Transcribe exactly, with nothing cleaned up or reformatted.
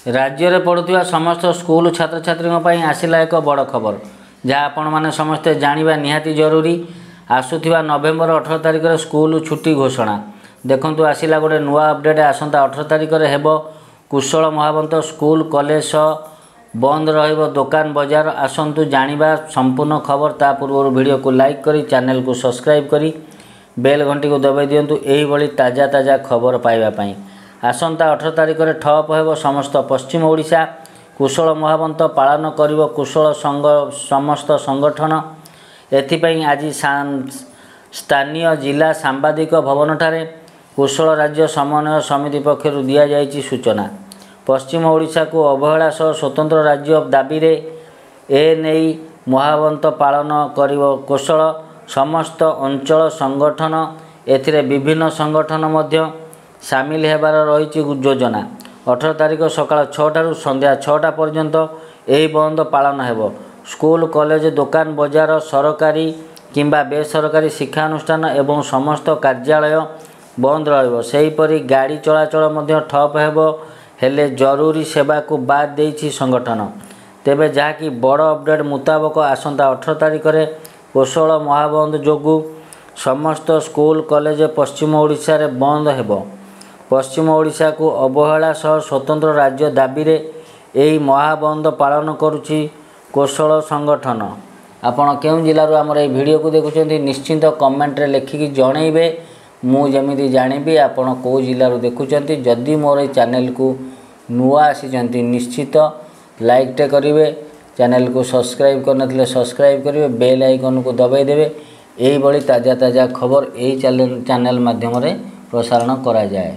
ରାଜ୍ୟରେ ପଢ଼ୁଥିବା ସମସ୍ତ ସ୍କୁଲ ଛାତ୍ରଛାତ୍ରୀଙ୍କ ପାଇଁ ଆସିଲା ଏକ ବଡ଼ ଖବର, ଯାହା ଆପଣମାନେ ସମସ୍ତେ ଜାଣିବା ନିହାତି ଜରୁରୀ। ଆସୁଥିବା ନଭେମ୍ବର ଅଠର ତାରିଖରେ ସ୍କୁଲ ଛୁଟି ଘୋଷଣା। ଦେଖନ୍ତୁ, ଆସିଲା ଗୋଟେ ନୂଆ ଅପଡ଼େଟ୍। ଆସନ୍ତା ଅଠର ତାରିଖରେ ହେବ କୋଶଳ ମହାବନ୍ଦ। ସ୍କୁଲ କଲେଜ ସହ ବନ୍ଦ ରହିବ ଦୋକାନ ବଜାର। ଆସନ୍ତୁ ଜାଣିବା ସମ୍ପୂର୍ଣ୍ଣ ଖବର। ତା ପୂର୍ବରୁ ଭିଡ଼ିଓକୁ ଲାଇକ୍ କରି, ଚ୍ୟାନେଲକୁ ସବସ୍କ୍ରାଇବ୍ କରି ବେଲ୍ ଘଣ୍ଟିକୁ ଦବାଇ ଦିଅନ୍ତୁ ଏହିଭଳି ତାଜା ତାଜା ଖବର ପାଇବା ପାଇଁ। ଆସନ୍ତା ଅଠର ତାରିଖରେ ଠପ୍ ହେବ ସମସ୍ତ ପଶ୍ଚିମ ଓଡ଼ିଶା। କୋଶଳ ମହାବନ୍ଦ ପାଳନ କରିବ କୋଶଳ ସଂଘ ସମସ୍ତ ସଂଗଠନ। ଏଥିପାଇଁ ଆଜି ସ୍ଥାନୀୟ ଜିଲ୍ଲା ସାମ୍ବାଦିକ ଭବନଠାରେ କୋଶଳ ରାଜ୍ୟ ସମନ୍ୱୟ ସମିତି ପକ୍ଷରୁ ଦିଆଯାଇଛି ସୂଚନା। ପଶ୍ଚିମ ଓଡ଼ିଶାକୁ ଅବହେଳା ସହ ସ୍ୱତନ୍ତ୍ର ରାଜ୍ୟ ଦାବିରେ ଏ ନେଇ ମହାବନ୍ଦ ପାଳନ କରିବ କୋଶଳ ସମସ୍ତ ଅଞ୍ଚଳ ସଂଗଠନ। ଏଥିରେ ବିଭିନ୍ନ ସଂଗଠନ ମଧ୍ୟ ସାମିଲ ହେବାର ରହିଛି ଯୋଜନା। ଅଠର ତାରିଖ ସକାଳ ଛଅଟାରୁ ସନ୍ଧ୍ୟା ଛଅଟା ପର୍ଯ୍ୟନ୍ତ ଏହି ବନ୍ଦ ପାଳନ ହେବ। ସ୍କୁଲ, କଲେଜ, ଦୋକାନ ବଜାର, ସରକାରୀ କିମ୍ବା ବେସରକାରୀ ଶିକ୍ଷାନୁଷ୍ଠାନ ଏବଂ ସମସ୍ତ କାର୍ଯ୍ୟାଳୟ ବନ୍ଦ ରହିବ। ସେହିପରି ଗାଡ଼ି ଚଳାଚଳ ମଧ୍ୟ ଠପ୍ ହେବ, ହେଲେ ଜରୁରୀ ସେବାକୁ ବାଦ୍ ଦେଇଛି ସଂଗଠନ। ତେବେ ଯାହାକି ବଡ଼ ଅପଡ଼େଟ୍ ମୁତାବକ ଆସନ୍ତା ଅଠର ତାରିଖରେ କୋଶଳ ମହାବନ୍ଦ ଯୋଗୁଁ ସମସ୍ତ ସ୍କୁଲ କଲେଜ ପଶ୍ଚିମ ଓଡ଼ିଶାରେ ବନ୍ଦ ହେବ। ପଶ୍ଚିମ ଓଡ଼ିଶାକୁ ଅବହେଳା ସହ ସ୍ୱତନ୍ତ୍ର ରାଜ୍ୟ ଦାବିରେ ଏହି ମହାବନ୍ଦ ପାଳନ କରୁଛି କୋଶଳ ସଂଗଠନ। ଆପଣ କେଉଁ ଜିଲ୍ଲାରୁ ଆମର ଏହି ଭିଡ଼ିଓକୁ ଦେଖୁଛନ୍ତି, ନିଶ୍ଚିନ୍ତ କମେଣ୍ଟରେ ଲେଖିକି ଜଣେଇବେ, ମୁଁ ଯେମିତି ଜାଣିବି ଆପଣ କେଉଁ ଜିଲ୍ଲାରୁ ଦେଖୁଛନ୍ତି। ଯଦି ମୋର ଏଇ ଚ୍ୟାନେଲକୁ ନୂଆ ଆସିଛନ୍ତି, ନିଶ୍ଚିତ ଲାଇକ୍ଟେ କରିବେ, ଚ୍ୟାନେଲକୁ ସବସ୍କ୍ରାଇବ୍ କରିନଥିଲେ ସବସ୍କ୍ରାଇବ୍ କରିବେ, ବେଲ୍ ଆଇକନ୍କୁ ଦବାଇ ଦେବେ। ଏଇଭଳି ତାଜା ତାଜା ଖବର ଏଇ ଚ୍ୟାନେଲ ମାଧ୍ୟମରେ ପ୍ରସାରଣ କରାଯାଏ।